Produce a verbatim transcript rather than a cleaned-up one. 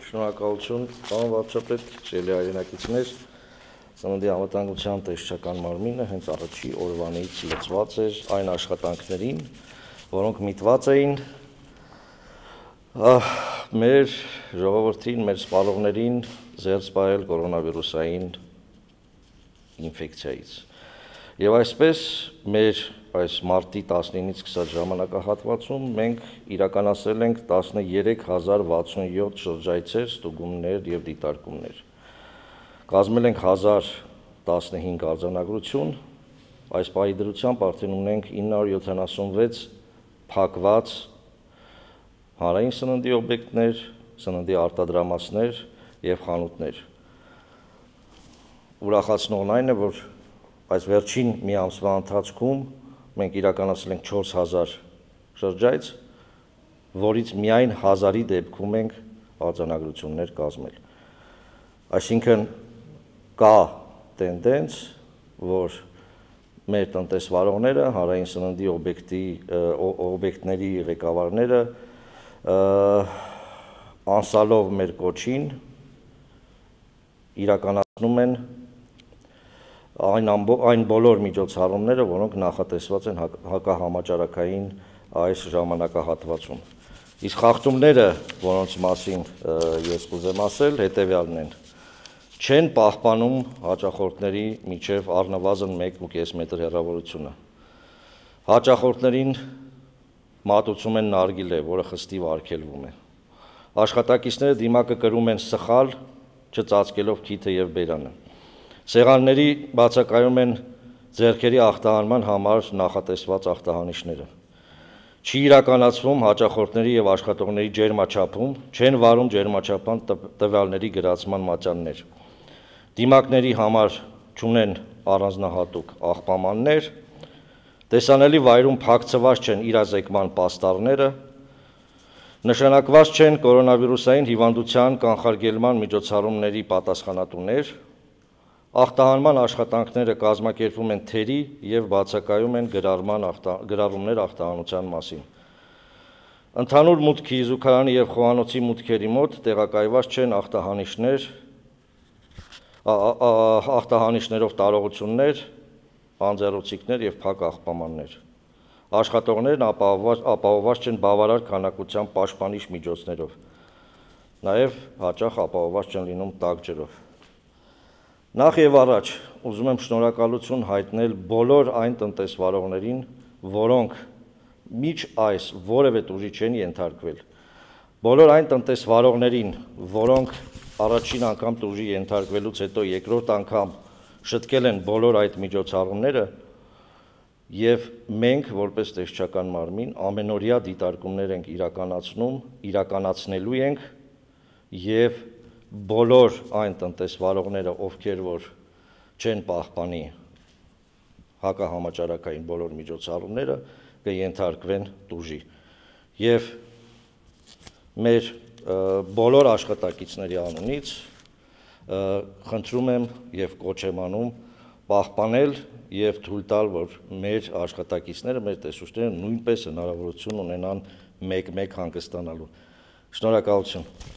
Շնորհակալություն, պարոն վարչապետ, սիրելի հայրենակիցներ, Ծննդի անվտանգության տեսչական մարմինը հենց առաջի օրվանից լծված էր այն աշխատանքներին, որոնք միտված էին մեր ժողովրդին, մեր սպառողներին զերծ պահել կորոնավիրուսային ինֆեկցիայից։ Եվ այսպես մեր այս մարտի տասնինից սկսած ժամանակահատվածում մենք իրականացրել ենք տասներեք հազար վաթսունյոթ շրջայցեր, ստուգումներ և դիտարկումներ։ Կազմել ենք հազար տասնհինգ արձանագրություն, այս պահի դրությամբ արդեն ունենք ինը հարյուր յոթանասունվեց փակված հանրային սննդի օբյեկտներ, սննդի արտադրամասներ և խանութներ։ Ուրախացնողն այն է, որ այս վերջին մի ամսվա ընթացքում մենք իրականացրել ենք չորս հազար շրջայց, որից միայն հազարի դեպքում ենք արձանագրություններ կազմել։ Այսինքն կա տենդենց, որ մեր տնտեսվարողները, հանրային սննդի օբյեկտի օբյեկտների ղեկավարները անսալով մեր կոչին իրականացնում են այն այն բոլոր միջոցառումները, որոնք նախատեսված են հակահամաճարակային այս ժամանակահատվածում։ Իսկ խախտումները, որոնց մասին ես կուզեմ ասել, հետևյալն են. չեն պահպանում հաճախորդների միջև առնվազն մեկ ու կես մետր հեռավորությունը։ Հաճախորդներին մատուցում են նարգիլե, որը խստիվ արգելվում է։ Աշխատակիցները դիմակը կրում են սխալ, չծածկելով քիթը և բերանը։ Սեղանների բացակայում են ձեռքերի ախտահանման համար նախատեսված ախտահանիչները։ Չի իրականացվում հաճախորդների և աշխատողների ջերմաչափում, չեն վարում ջերմաչափման տվյալների գրացման մատյաններ։ Դիմակների համար չունեն առանձնահատուկ աղբամաններ, տեսանելի վայրում փակցված չեն իրազեկման պաստառները, նշանակված չեն կորոնավիրուսային հիվանդության կանխարգելման միջոցառումների պատասխանատուներ, ախտահանման աշխատանքները կազմակերպվում են թերի և բացակայում են գրառումներ ախտահանության մասին։ Ընդհանուր մուտքի, զուգարանի և խոհանոցի մուտքերի մոտ տեղակայված չեն ախտահանիչներ, ախտահանիչներով տարողություններ, անձեռոցիկներ և փակ աղբամաններ։ Աշխատողներն ապահովված չեն բավարար քանակությամբ պաշտպանիչ միջոցներով, նաև հաճախ ապահովված չեն լինում տաք ջրով։ Նախ և առաջ ուզում եմ շնորհակալություն հայտնել բոլոր այն տնտեսվարողներին, որոնք մինչ այս որևէ տուժի չեն ենթարկվել, բոլոր այն տնտեսվարողներին, որոնք առաջին անգամ տուժի ենթարկվելուց հետո երկրորդ անգամ շտկել են բոլոր այդ միջոցառումները, և մենք որպես տեսչական մարմին ամենօրյա դիտարկումներ ենք իրականացնում, իրականացնելու ենք և բոլոր այն տնտեսվարողները, ովքեր որ չեն պահպանի հակահամաճարակային բոլոր միջոցառումները, կենթարկվեն տուժի։ Եվ մեր բոլոր աշխատակիցների անունից խնդրում եմ և կոչ եմ անում պահպանել և թույլ տալ, որ մեր աշխատակիցները, մեր տեսուչները նույնպես հնարավորություն ունենան մեկ-մեկ հանգստանալու։ Շնորհակալություն։